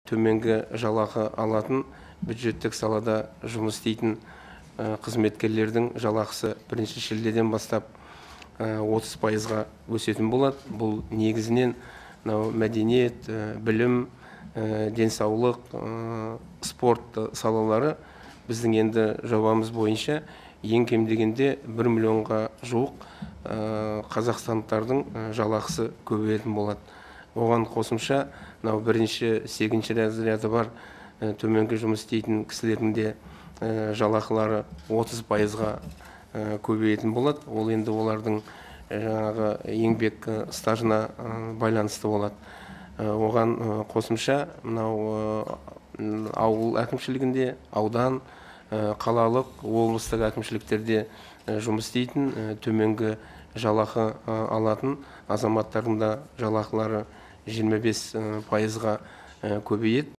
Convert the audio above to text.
төменгі жалақы алатын бюджеттік салада жұмыс істейтін қызметкерлердің жалақысы 1 шілдеден бастап 30%-ға өсетін болады. Бұл негізінен мәдениет, білім, денсаулық, спорт салалары. Біздің енді жобамыз бойынша ең кем дегенде 1 миллионға жуық қазақстандықтардың жалақысы көбейетін болады. Оған қосымша 1-ші, 2-ші разряды бар төменгі жұмыс істейтін кісілердің де жалақылары 30%-ға көбейетін болады. Ол енді олардың жаңағы еңбек стажына байланысты болады. Оған қосымша ауыл әкімшілігінде, аудан, қалалық, облыстық әкімшіліктерде жұмыс істейтін төменгі жалақы алатын азаматтардың да жалақылары 25%-ға көбейеді.